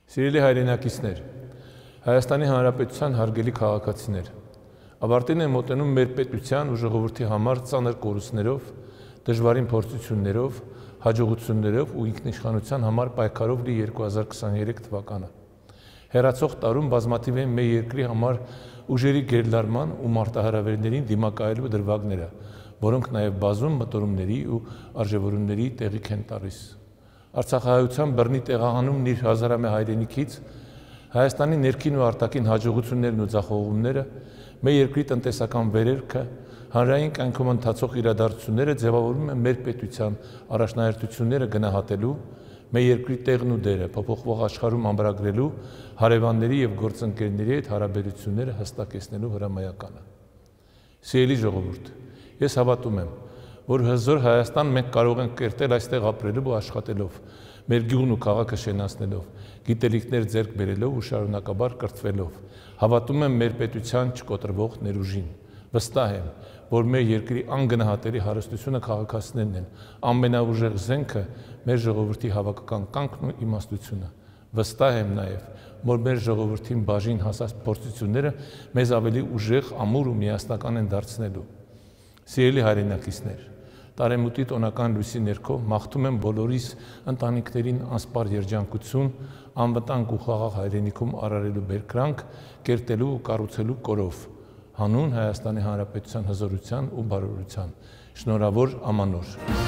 Սիրելի հայրենակիցներ, Հայաստանի Հանրապետության հարգելի քաղաքացիներ, ավարտին է մոտենում մեր պետության ու ժողովրդի համար ծանր կորուստներով, դժվարին փորձություններով, հաջողություններով ու ինքնիշխանության համար պայքարով լի 2023 թվականը։ Հեռացող տարում բազմաթիվ են մեր երկրի համար ուժերի գերլարման ու մարտահրավերներին դիմակայելու դրվագները, որոնք նաև բազում մտորումների ու արժևորումների տեղիք են տալիս։ Արցախահայության բռնի տեղահանումն իր հազարամյա հայրենիքից, Հայաստանի ներքին ու արտաքին հաջողություններն ու ձախողումները, մեր երկրի տնտեսական վերելքը, հանրային կյանքում ընթացող իրադարձությունները ձևավորում են մեր պետության առաջնահերթությունները գնահատելու, մեր երկրի տեղն ու դերը փոփոխվող աշխարհում ամրագրելու, հարևանների եւ գործընկերների հետ հարաբերությունները հստակեցնելու հրամայականը։ Սիրելի ժողովուրդ, ես հավատում եմ, որ հզոր Հայաստան մենք կարող ենք կերտել այստեղ ապրելով ու աշխատելով, մեր գյուղն ու քաղաքը շենացնելով, գիտելիքներ ձեռք բերելով ու շարունակաբար կրթվելով, հավատում եմ մեր պետության չկոտրվող ներուժին, վստահ եմ, որ մեր երկրի անգնահատելի հարստությունը քաղաքացիներն են, ամենաուժեղ զենքը մեր ժողովրդի հավաքական կամքն ու իմաստությունը, վստահ եմ նաև, որ մեր ժողովրդին բաժին հասած փորձությունները մեզ ավելի ուժեղ, ամուր ու միասնական են դարձնելու։ Սիրելի հայրենակիցներ, տարեմուտի տոնական լույսի ներքո մաղթում եմ բոլորիս ընտանիքներին անսպար երջանկություն, անվտանգ ու խաղաղ հայրենիքում արարելու բերկրանք, կերտելու ու կառուցելու կորով, հանուն Հայաստանի Հանրապետության հզորության ու բարօրության։ Շնորհավոր ամանոր։